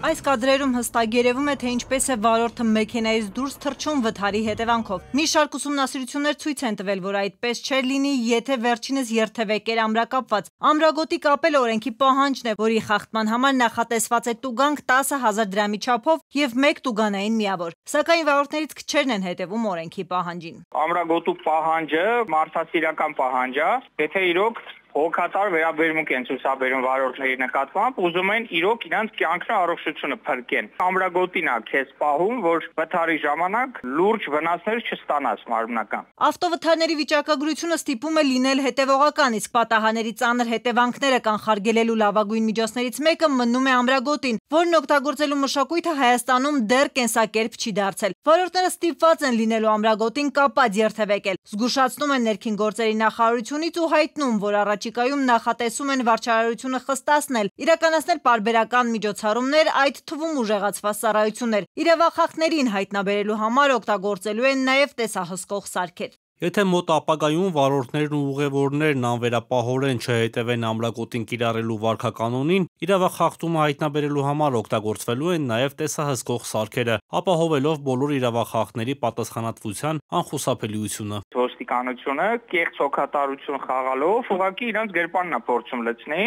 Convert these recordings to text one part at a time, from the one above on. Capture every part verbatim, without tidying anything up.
Այս կադրերում հստակ երևում է, թե ինչպես է վարորդը մեքենայից դուրս թռչում վթարի հետևանքով։ Մի շարք ուսումնասիրություններ ցույց են տվել, որ այդպես չէր լինի, եթե վերջինս երթևեկեր ամրակապված։ Ամրագոտի կապելը օրենքի պահանջն է, որի խախտման համար նախատեսված է տուգանք տասը հազար դրամի չափով եւ մեկ տուգանային միավոր։ Սակայն վարորդներից քչերն են հետևում օրենքի պահանջին։ Ամրագոտու պահանջը մարդասիրական պահանջ է, եթե իրոք հոգատար վերաբերմունք են ցուցաբերում վարորդների նկատմամբ, ուզում են իրոք իրանց կյանքն առողջությունը փրկեն։ Ամրագոտին է քեզ պահում, որ վթարի ժամանակ լուրջ վնասներ չստանաս մարմնական։ Ավտովթարների վիճակագրությունը ստիպում է լինել հետևողական, իսկ պատահաների ծանր հետևանքները կանխարգելելու լավագույն միջոցներից մեկը մնում է ամրագոտին, որն օգտագործելու մշակույթը Հայաստանում դեռ կենսակերպ չի դարձել։ Վարորդները ստիպված են լինելու ամրագոտին կապած երթևեկել։ Զգուշացնում են ներքին գործերի նախարարությունից ու հայտնում, որ առաջիկայում նախատեսում են վարչարարությունը խստացնել, իրականացնել պարբերական միջոցառումներ, այդ թվում ուժեղացված ծառայություններ։ Իրավախախներին հայտնաբերելու համար օգտագործելու են նաև տեսահսկող սարքեր։ Եթե մոտ ապագայում վարորդներն ու ուղևորներն անվերապահորեն չհետևեն ամրագոտին կիրառելու վարքականոնին, իրավախախտումը հայտնաբերելու համար օգտագործվելու են նաև տեսահսկող սարքերը, ապահովելով բոլոր իրավախախների պատասխանատվության անխուսափելիությունը։ Ոստիկանությունը կեղծ հոգատարություն խաղալով ուղղակի իրանց գրպանն է փորձում լցնի,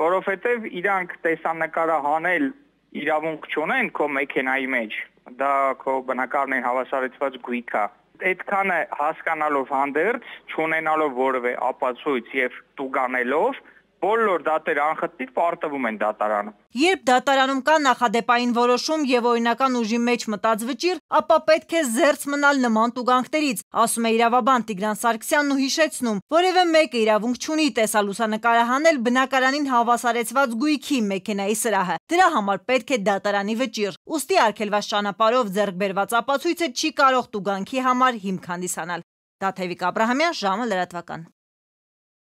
որովհետև իրանք տեսանկարը հանել իրավունք չունեն քո մեքենայի մեջ, դա քո բնակարանի հավասարեցված գույք է։ Այդքանը հասկանալով հանդերձ, չունենալով որևէ ապացույց եւ տուգանելով, բոլոր դատերը անխտիր պարտվում են դատարանում։ Երբ դատարանում կա նախադեպային որոշում եւ օրինական ուժի մեջ մտած վճիռ, ապա պետք է զերծ մնալ նման տուգանքներից, ասում է իրավաբան Տիգրան Սարգսյանն ու հիշեցնում, որևէ մեկը իրավունք չունի տեսալուսանկարը հանել բնակարանին հավասարեցված գույքի մեքենայի սրահը։ Դրա համար պետք է դատարանի վճիռ։ Ուստի արգելված ճանապարհով ձեռք բերված ապացույցը չի կարող տուգանքի համար հիմք հանդիսանալ։ Տաթևիկ Աբրահամյան, ժամը լրատվական։